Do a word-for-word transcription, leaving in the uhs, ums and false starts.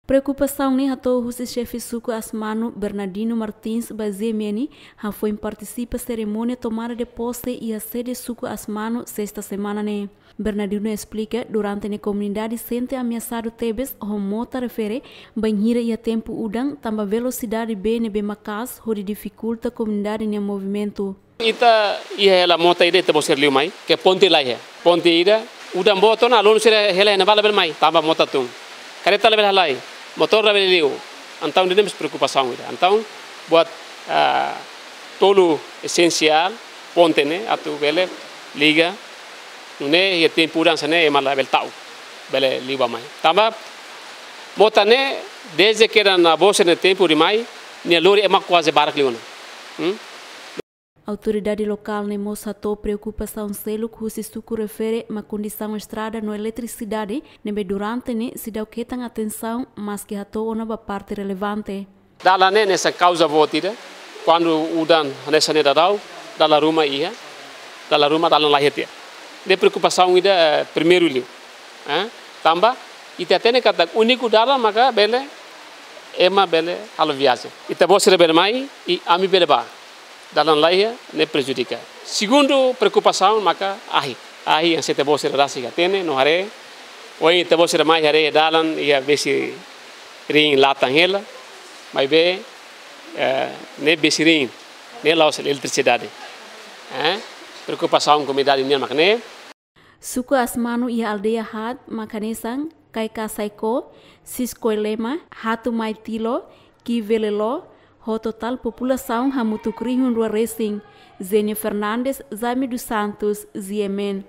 Preokupasaun ne'e hato'o husi xefe suku Asmanu, Bernardino Martins, ba G M N, hafoin partisipa serimónia tomada de pose iha sede suku Asmanu, sesta semana ne'e. Bernardino esplika, durante ne'e komunidade sente ameasadu tebes ho mota refere, bainhira iha tempu udan, tanba velosidade bee ne'ebé maka'as hodi difikulta komunidade nia movimentu. Ita iha hela mota ida, ita-boot sira liu mai, ke ponte laiha. Ponte ida, udan boot ona, aluno sira hela iha ne'ebá labele mai, tanba mota tun. Kareta labele halai, motór labele liu. Entaun ida-ne'e mós preokupasaun ida. Entaun, buat, ah, tolu esensiál, ponte ne'e, atu bele liga. Nune'e, iha tempu udan hanesan ne'e, ema labele ta'uk, bele liu bá mai. Tanba, mota ne'e, dezde kedas ne'e, boot sira-nia tempu ida mai, nia lori ema kuaze barak liu ona. Hmm? Autoridade lokál ne'e mós hato'o preokupasaun seluk husi suku refere mak kondisaun estrada no eletrisidade ne'ebé durante ne'e seidauk hetan atensaun, maski hato'o ona ba parte relevante. Dalan ne'e hanesan kauza boot ida, kuandu udan hanesan ne'e daudaun, dalan ruma iha, dalan ruma dalan laiha tiha. Ne'e preokupasaun ida, eh, primeiru liu. Eh? Tanba, ita hatene katak úniku dalan maka bele, ema bele halo viajen. Ita-boot sira bele mai, i ami bele bá. Dalan laiha, ne'e prejudika. Segundu preokupasaun maka ahi. Ahi hanesan ita-boot sira rasik hatene no haree. Ohin ita-boot sira mai haree dalan iha besi-riin latan hela. Maibé, eh, ne'e besi-riin. Ne'e la'ós eletrisidade. Eh? Preokupasaun komunidade nian mak ne'e. Suku Asmanu iha aldeia haat mak hanesan Kaikasai-Koo, Siskoilema, Hatu-Mai-Tilo, Kivelelo, ho totál populasaun hamutuk rihun rua resin. Zenia Fernandes, Jaime dos Santos, G M N.